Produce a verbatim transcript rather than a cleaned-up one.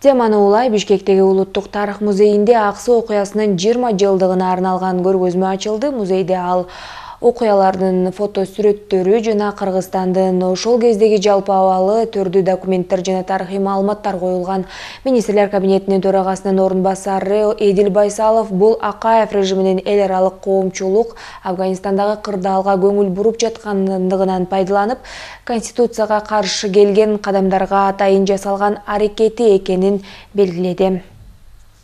Теманы улай Бишкектеги Улуттук тарых музейинде Аксы окуясынын жыйырма жылдыгына арналган көргөзмө ачылды. Музейде ал окуялардын фото сүрөттөрү жана Кыргызстандын ошол кездеги жалпы абалы, түрдүү документтер жана тарыхый маалыматтар коюлган. Министрлер кабинетинин төрагасынын орун басары Эдил Байсалов бул Акаев режиминин эл аралык коомчулук Афганистандагы кырдаалга көңүл буруп жаткандыгынан пайдаланып, Конституцияга каршы келген кадамдарга атайын жасалган аракети экенин белгиледи.